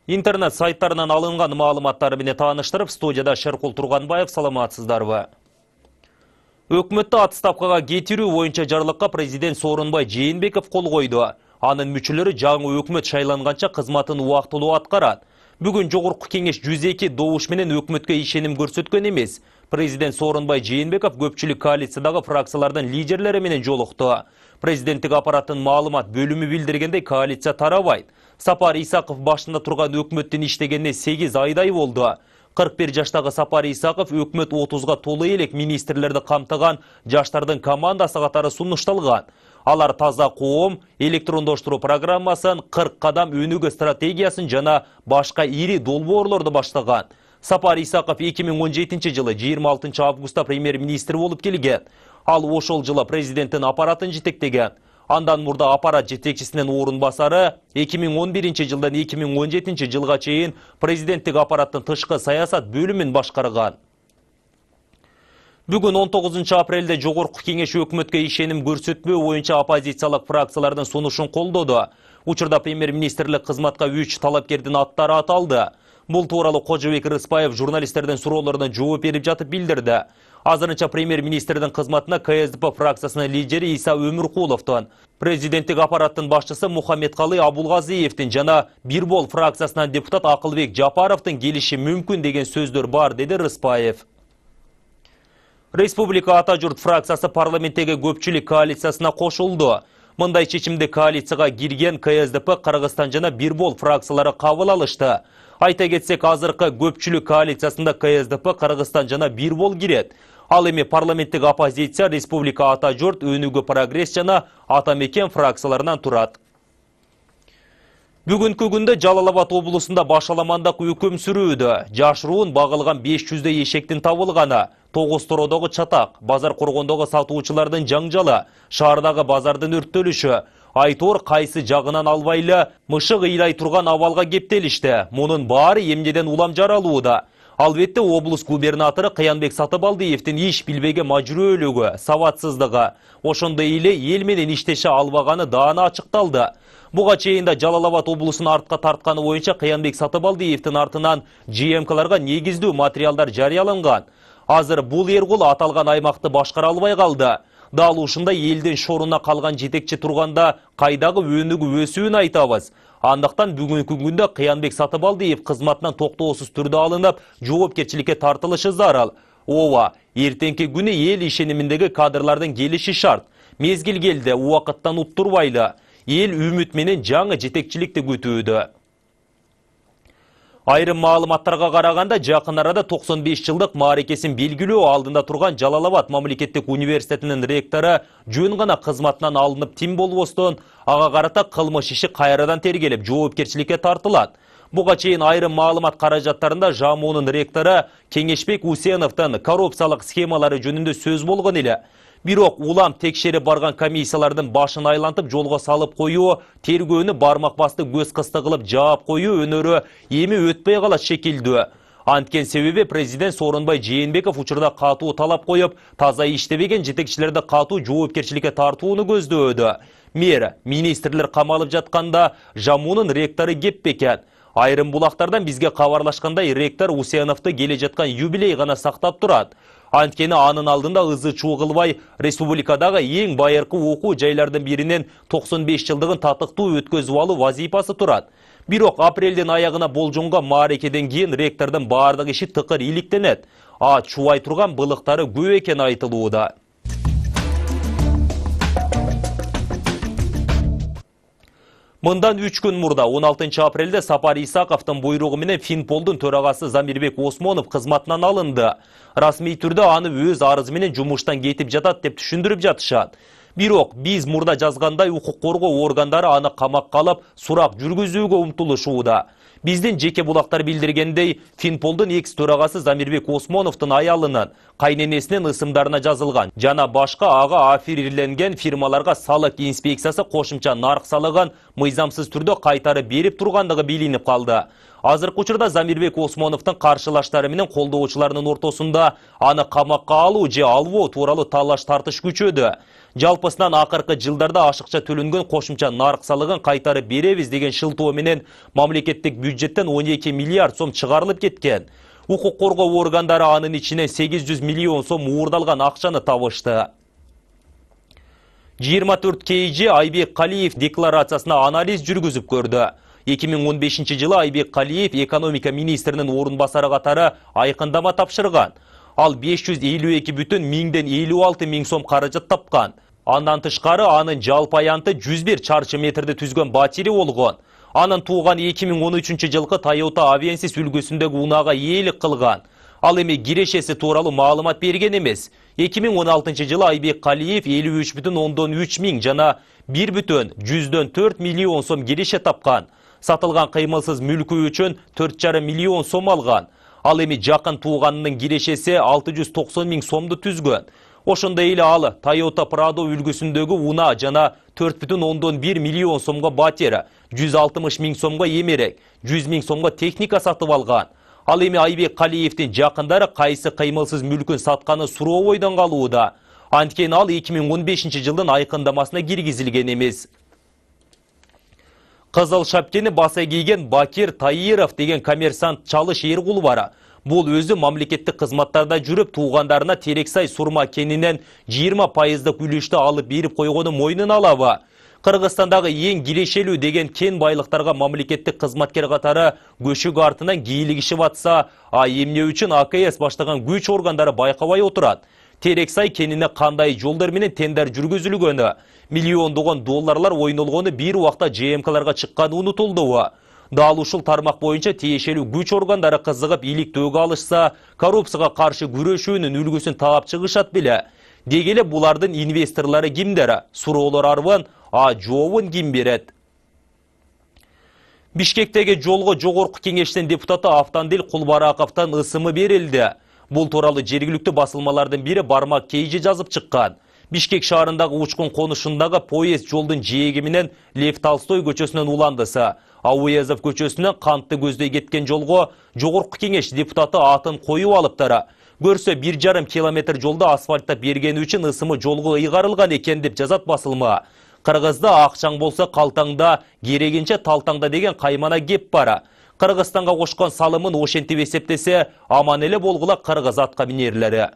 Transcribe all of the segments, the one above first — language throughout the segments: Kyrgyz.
Интернет сайттарынан алынган маалыматтары менен тааныштырып, студияда Шеркул Турганбаев, саламатсыздарбы? Өкмөттү отставкага кетирүү боюнча жарлыкка президент Сооронбай Жээнбеков кол койду. Анын мүчөлөрү жаңы өкмөт шайланганча кызматын убактылуу аткарат. Бүгүн Жогорку кеңеш 102 добуш менен өкмөткө ишеним көрсөткөн эмес. Президент Сооронбай Жээнбеков көпчүлүк коалициядагы фракциялардын лидерлери менен жолукту. Президенттик аппараттын маалымат бөлүмү билдиргендей, коалиция тарабайт. Сапар Исаков башында турган өкмөттүн иштегенине 8 айдай болду. 41 жаштагы Сапар Исаков өкмөт 30га толуу элек министрлерди камтыган жаштардын командасы катары сунушталган. Алар таза коом, электрондоштуруу программасын, 40 кадам өнүгүү стратегиясын жана башка ири долбоорлорду баштаган. Сапар Исаков 2017 жылы 26 августта премьер-министр болуп келген. Ал ошол жылы президенттин аппаратын жетектеген. Андан мурда аппарат жетекчисинин орун басары 2011 жылдан 2017 жылга чейин президенттик аппараттын тышкы саясат бөлүмүн башкарган. Бүгүн 19 апрелде Жогорку кеңеш өкмөткө ишеним көрсөтпөө боюнча оппозициялык фракциялардын сунушун колдоду. Учурда премьер-министрлик кызматка 3 талапкердин аттары аталды. Бул тууралуу Кожобек Рыспаев журналисттердин суроолоруна жооп берип жатып билдирди. Азырынча премьер-министрдин кызматына КСДП фракциясынын лидери Иса Өмүркуловдун, президенттик аппараттын башчысы Мухаммедкалый Абулгазиевдин жана Бир Бол фракциясынан депутат Акылбек Жапаровдун келиши мүмкүн деген сөздөр бар, деди Рыспаев. Республика Ата журт фракциясы парламенттеги көпчүлүк коалициясына кошулду. Мындай чечимди коалицияга кирген КСДП, Кыргызстан жана Бир Бол фракциялары кабыл алышты. Айта кетсек, азыркы көпчүлүк коалициясында КСДП, Кыргызстан жана Бир Бол кирет. Ал эми парламенттик оппозиция Республика Ата журт, Өнүгүү прогресс жана Ата мекен фракцияларынан турат. Бүгүнкү күндө Жалал-Абад облусунда башаламандык өкүм сүрүүдө. Жашыруун багылган 500 эшектин табылганы, 9 тородогу чатак, базар коргондогу сатуучулардын жаңжалы, шаардагы базардын өрттөлүшү, айтор кайсы жагынан албайлы мышык ыйлай турган абалга кептелишти. Мунун баары эмнеден улам жаралууда. Албетте облус губернатору Кыянбек Сатыбалдиевдин иш билбеген мажрөөлүгү, сабатсыздыгы, ошондой эле эл менен иштеше албаганы даана ачыкталды. Буга чейин да Жалал-Абад облусун артка тартканы боюнча Кыянбек Сатыбалдиевдин артынан ЖМКларга негиздүү материалдар жарыяланган. Азыр бул эргул аталган аймакты башкара албай калды. Дал ушундай элдин шоруна калган жетекчи турганда кайдагы өнүгүү өсүүн айтабыз. Андыктан бүгүнкү күндө Кыянбек Сатыбалдиев кызматынан токтоосуз түрдө алынып, жоопкерчиликке тартылышы зарыл. Ооба, эртеңки күнү эл ишениминдеги кадрлардын келиши шарт. Мезгил келди, убакыттан уттурбайлы. Эл үмүт менен жаңы жетекчиликти күтүүдө. Айрым маалыматтарга караганда, жакын арада 95 жылдык мааракесин белгилөө алдында турган Жалал-Абад мамлекеттик университетинин ректору жөн гана кызматынан алынып тим болбостон, ага карата кылмыш иши кайрадан тергелип, жоопкерчиликке тартылат. Буга чейин айрым маалымат каражаттарында ЖАМУнун ректору Кеңешбек Усеновдун коррупциялык схемалары жөнүндө сөз болгон эле. Бирок улам текшерип барган комиссиялардын башын айлантып жолго салып коюу, тергөөнү бармак басты көз кысты кылып жаап коюу өнөрү эми өтпөй калат шекилдүү. Анткен себеби президент Сооронбай Жээнбеков учурда катуу талап коюп, таза иштебеген жетекчилерди катуу жоопкерчиликке тартууну көздөөдө. Мэр, министрлер камалып жатканда ЖАМУнун ректору кеп бекен. Айрым булактардан бизге кабарлашкандай, ректор Усеновду келе жаткан юбилей гана сактап турат. Анткени анын алдында ызы-чуу кылбай, республикадагы эң байыркы окуу жайлардын биринен 95 жылдыгын татыктуу өткөзүп алуу вазифасы турат. Бирок апрелдин аягына болжонгон мааракеден кийин ректордун баардык иши тыкыр иликтенет. Чубай турган былыктары көп экени айтылууда. Мындан 3 күн мурда 16 апрелде Сапар Исаковдун буйругу менен Финполдун төрагасы Замирбек Осмонов кызматынан алынды. Расмий түрдө аны өз арызы менен жумуштан кетип жатат деп түшүндүрүп жатышат. Бирок биз мурда жазгандай укук коргоо органдары аны камакка алып, сурак жүргүзүүгө умтулушууда. Биздин жеке булактар билдиргендей, Финполдун экс-төрагасы Замирбек Осмоновдун аялынын, кайненесинин ысымдарына жазылган жана башка ага аффилирленген фирмаларга салык инспекциясы кошумча нарк салыгын мыйзамсыз түрдө кайтарып берип тургандыгы билинип калды. Азыркы учурда Замирбек Осмоновдун каршылаштары менен колдоочуларынын ортосунда аны камакка алуу же албоо тууралуу талаш тартыш күчөдү. Жалпысынан акыркы жылдарда ашыкча төлөнгөн кошумча нарк салыгын кайтарып беребиз деген шылтоо менен мамлекеттик бюджеттен 12 миллиард сом чыгарылып кеткен. Укук коргоо органдары анын ичинен 800 миллион сом уурдалган акчаны табышты. 24 KG Айбек Калиев декларациясына анализ жүргүзүп көрдү. 2015 жылы Айбек Калиев экономика министринин орун басары катары айкындама тапшырган. Ал 552,56 миң сом каражат тапкан. Андан тышкары анын жалпы аянты 101 чарчы метрди түзгөн батири болгон. Анын тууган 2013 жылкы Toyota Avensis үлгүсүндөгү унаага ээлик кылган. Ал эми кирешеси тууралуу маалымат берген эмес. 2016 жылы Айбек Калиев 53,3 миң жана 1,4 миллион сом киреше тапкан. Сатылган кыймылсыз мүлкү үчүн 4,5 миллион сом алган. Ал эми жакын тууганынын кирешеси 690 миң сомду түзгөн. Ошондой эле ал Toyota Prado үлгүсүндөгү уна жана 4,1 миллион сомго батир, 160 миң сомго эмерек, 100 миң сомго техника сатып алган. Ал эми Айбек Калиевдин жакындары кайсы кыймылсыз мүлкүн сатканы суроо ойдон калууда. Анткени ал 2015 жылдын айкындамасына киргизилген эмес. Кызыл шапкени баса кийген Бакир Таиров деген коммерсант Чалыш Эркул бар. Бул өзү мамлекеттик кызматтарда жүрүп, туугандарына Терексай сурма кенинен 20% үлүштү алып берип койгону мойнуна алабы. Кыргызстандагы эң кирешелүү деген кен байлыктарга мамлекеттик кызматкер катары көшүк артынан кийлигишип атса, эмне үчүн АКС баштаган күч органдары байкабай отурат? Терексай кенине кандай жолдор менен тендер жүргүзүлгөнү, миллиондогон долларлар ойнолгону бир убакта ЖМКларга чыкканы унутулду. Дал ушул тармак боюнча тиешелүү күч органдары кызыгып иликтөөгө алышса, коррупцияга каршы күрөшүүнүн үлгүсүн таап чыгышат беле. Деги эле булардын инвесторлору кимдер? Суроолор арбын, жообун ким берет? Бишкектеги жолго жогорку кеңештин депутаты Автандил Кулбараковдон ысымы берилди. Бул тууралуу жергиликтүү басылмалардын бири Бармак Кейжи жазып чыккан. Бишкек шаарындагы учкун конушундагы поезд жолдун жээги менен Лев Толстой көчөсүнөн уландысы, Ауязов көчөсүнөн Кантты көздөй кеткен жолго жогорку кеңеш депутаты атын коюп алыптыр. Көрсө 1,5 километр жолду асфальттап бергени үчүн ысымы жолго ыйгарылган экен деп жазат басылма. Кыргызда акчаң болсо калтаңда, керегинче талтаңда деген каймана кеп бар. Кыргызстанга кошкон салымын ошентип эсептесе, аман эле болгула кыргыз атка минерлери.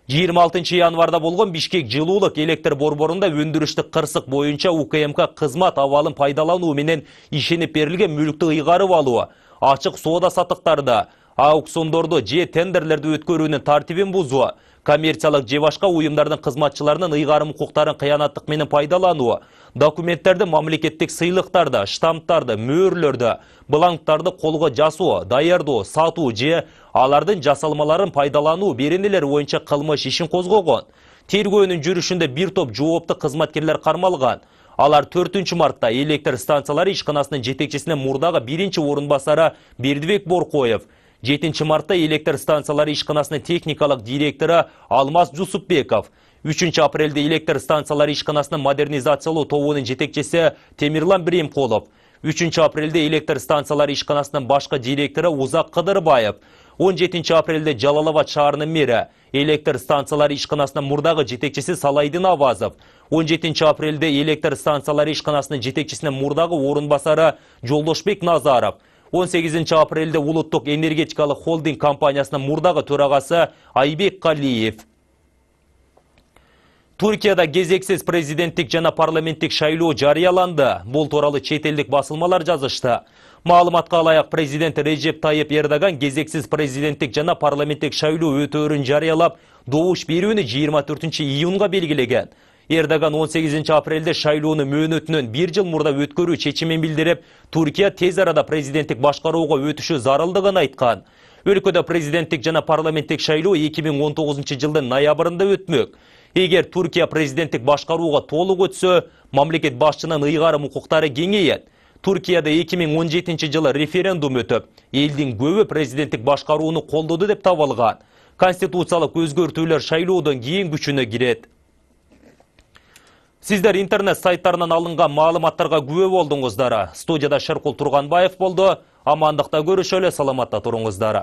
26 январда болгон Бишкек жылуулук электр борборунда өндүрүштүк кырсык боюнча УКМК кызмат абалын пайдалануу менен ишенип берилген мүлктү ыйгарып алуу, ачык соода сатыктарды, аукциондорду же тендерлерди өткөрүүнүн тартибин бузуу, коммерциялык же башка уюмдардын кызматчыларынын ыйгарым укуктарын кыянаттык менен пайдалануу, документтерди, мамлекеттик сыйлыктарды, штамптарды, мөөрлөрдү, бланктарды колго жасоо, даярдоо, сатуу же алардын жасалмаларын пайдалануу беренелери боюнча кылмыш ишин козгогон. Тергөөнүн жүрүшүндө бир топ жоопту кызматкерлер кармалган. Алар 4 мартта электр станциялары ишканасынын жетекчисинин мурдагы 1-орун басары Бердибек Боркоев, 7 мартта электр станциялары ишканасынын техникалык директору Алмаз Жусупбеков, 3 апрелде электр станциялары ишканасынын модернизациялоо тобунун жетекчиси Темирлан Биремкулов, 3 апрелде электр станциялары ишканасынын башкы директору Узак Кыдырбаев, 17 апрелде Жалалабад шаарынын мэри, электр станциялары ишканасынын мурдагы жетекчиси Салайдын Авазов, 17 апрелде электр станциялары ишканасынын жетекчисинин мурдагы орун басары Жолдошбек Назаров, 18 апрелде Улуттук энергетикалык холдинг компаниясынын мурдагы төрагасы Айбек Калиев. Туркияда кезексиз президенттик жана парламенттик шайлоо жарыяланды. Бул тууралуу чет элдик басылмалар жазышты. Маалыматка ылайык, президент Режеп Тайып Эрдоган кезексиз президенттик жана парламенттик шайлоо өтөөрүн жарыялап, добуш берүүнү 24 июнга белгилеген. Эрдоган 18 апрелде шайлоону мөөнөтүнөн 1 жыл мурда өткөрүү чечимин билдирип, Туркия тез арада президенттик башкарууга өтүшү зарылдыгын айткан. Өлкөдө президенттик жана парламенттик шайлоо 2019 жылдын ноябрында өтмөк. Эгер Туркия президенттик башкарууга толук өтсө, мамлекет башчынын ыйгарым укуктары кеңейет. Туркияда 2017 жылы референдум өтүп, элдин көбү президенттик башкарууну колдоду деп табылган. Конституциялык өзгөртүүлөр шайлоодон кийин күчүнө кирет. Сиздер интернет сайттарынан алынган маалыматтарга күбө болдуңуздар. Студияда Шеркул Турганбаев болду. Амандыкта көрүшөлө, саламатта туруңуздар.